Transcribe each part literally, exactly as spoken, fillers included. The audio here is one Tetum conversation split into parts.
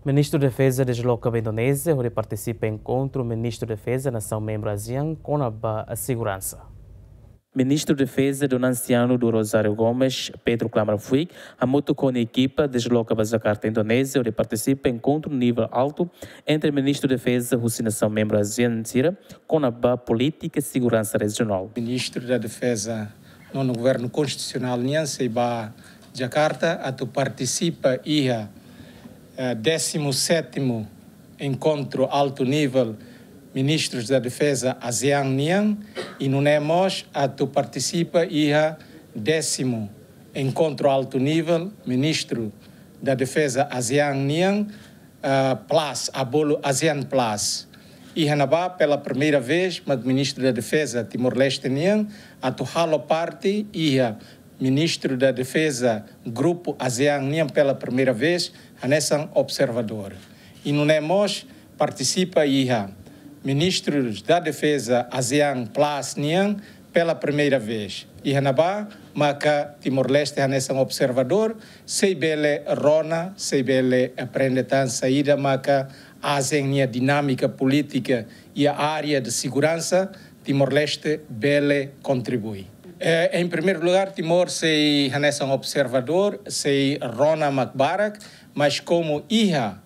Ministru Defeza desloka ba Indonézia hodi partisipa enkontru Ministru Defeza nasaun membru ASEAN kona-ba seguransa. Ministru Defeza Donansiano do Rosário Gomes, Pedro Klamar Fuik, hamutuk ho nia ekipa desloka ba Jakarta, Indonézia, hodi partisipa enkontru nivel altu entre Ministru Defeza husi nasaun membru ASEAN sira kona-ba polítika seguransa rejionál. Ministru da Defeza nonu Governu Konstitusionál nian sei ba Jakarta atu partisipa iha eh, décimo sétimo enkontru altu nivel Ministrus da Defeza ASEAN nian, i nune'e mós atu partisipa iha décimo enkontru altu nivel Ministru da Defeza ASEAN nian, ah, Plus, a bolu ASEAN Plus. Iha ne'ebá, pela primeira vez, mak Ministru da Defeza Timor-Leste nian atu halo parte iha Ministru da Defeza Grupu ASEAN nian pela primeira vez hanesan observadór. I nune'e mós partisipa iha Ministrus da Defeza ASEAN Plus nian pela primeira vez. Iha ne'ebá maka Timor-Leste hanesan observadór, sei bele rona, sei bele aprende tan saida maka ASEAN nia dinámika polítika iha área de seguransa, Timor-Leste bele kontribui. Eh, em primeiro lugar, Timor sei hanesan observadór, sei rona mak barak, mas komu iha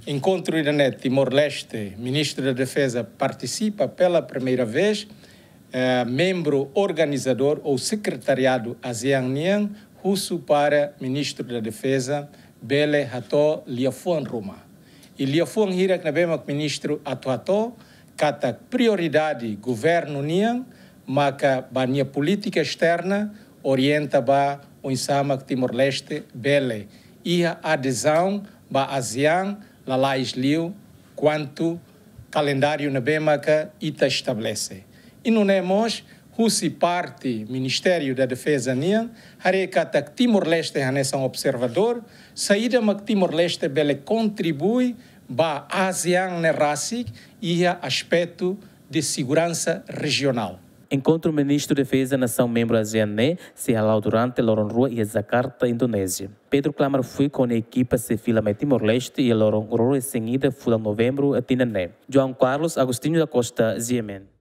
enkontru ida-ne'e Timor-Leste, Ministru da Defeza partisipa pela primeira vez, eh, membru organizadór ou sekretariadu ASEAN nian husu para Ministru da Defeza bele hato'o liafuan ruma. I liafuan hirak ne'ebé mak ministru atu hato'o katak prioridade governu nian maka ba nia polítika esterna orienta ba oinsá mak Timor-Leste bele iha adezaun ba ASEAN lalais liu kuantu kalendáriu ne'ebé maka ita estabelese. I nune'e mós husi parte Ministériu da Defeza nian haree katak Timor-Leste hanesan observadór, saida mak Timor-Leste bele kontribui ba ASEAN ne'e rasik iha aspetu de seguransa rejionál. Enkontru Ministru Defeza nasaun membru ASEAN ne'e sei hala'o durante loron rua iha Jakarta, Indonézia. Pedro Klamar Fuik ho nia ekipa sei fila mai Timor-Leste iha loron ruanulu-resin-ida fulan Novembru tinan ne'e. João Carlos Agostinho da Costa, G M N.